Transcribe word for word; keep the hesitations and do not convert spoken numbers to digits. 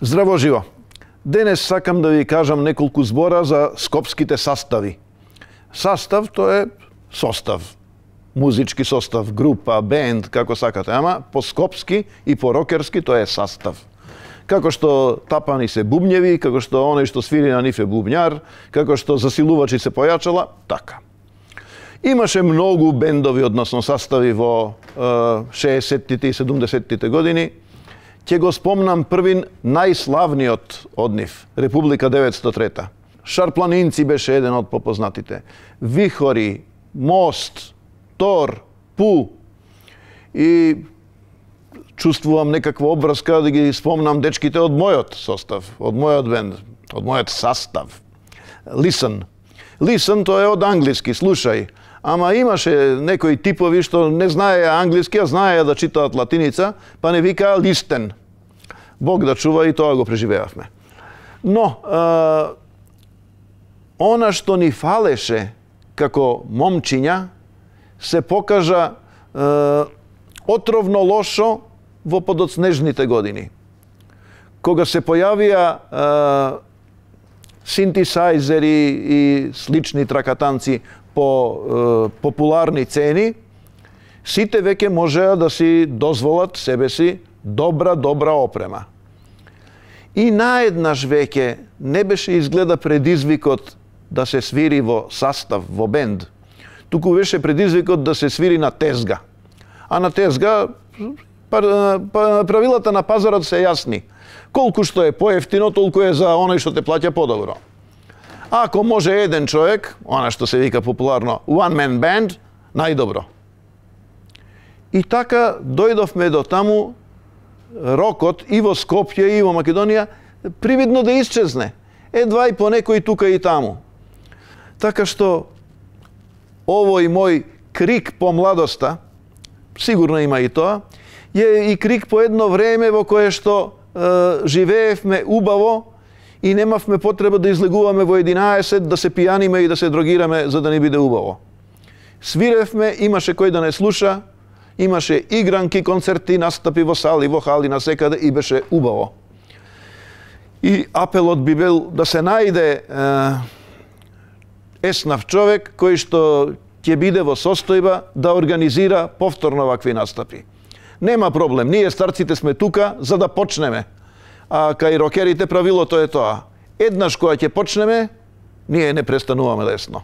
Здраво живо! Денес сакам да ви кажам неколку збора за скопските sastavi. Састав тоа е состав. Музички состав, група, бенд, како сакате, ама по скопски и по рокерски тоа е састав. Како што тапани се бубњеви, како што оној што свири на нив е бубњар, како што засилувачи се појачала, така. Имаше многу бендови, односно sastavi во шеесеттите и седумдесеттите години. Ќе го спомнам првин најславниот од нив, Република деветстотини и трета. Шарпланинци беше еден од попознатите. Вихори, Мост, Тор, Пу. И чувствувам некаква обврска да ги спомнам дечките од мојот состав, од мојот бенд, од мојот састав. Listen. Listen тоа е од англиски, слушај. Ама имаше некои типови што не знаеја англиски, а знаеја да читаат латиница, па не викаа листен. Бог да чува, и тоа го преживеавме. Но, е, она што ни фалеше како момчиња, се покажа е, отровно лошо во подоцнежните години. Кога се појавија е, синтесајзери и слични тракатанци по е, популарни цени, сите веќе можеа да си дозволат себе си добра, добра опрема. И наеднаш веќе не беше изгледа предизвикот да се свири во састав, во бенд, туку беше предизвикот да се свири на тезга. А на тезга правилата на пазарот се јасни. Колку што е поевтино, толку е за оној што те плаќа подобро. Ако може еден човек, она што се вика популарно one man band, најдобро. И така дојдовме до таму рокот и во Скопје и во Македонија привидно да исчезне. Едва и по некој тука и таму. Така што овој мој крик по младоста, сигурно има и тоа, е и крик по едно време во кое што е, живеевме убаво и немавме потреба да излегуваме во единаесет, да се пијаниме и да се дрогираме за да ни биде убаво. Свиревме, имаше кој да не слуша, имаше игранки, концерти, настапи во сали, во хали, насекаде и беше убаво. И апелот би бил да се најде е, еснав човек кој што ќе биде во состојба да организира повторно вакви настапи. Нема проблем, ние старците сме тука за да почнеме. А кај рокерите правилото е тоа. Еднаш кога ќе почнеме, ние не престануваме лесно.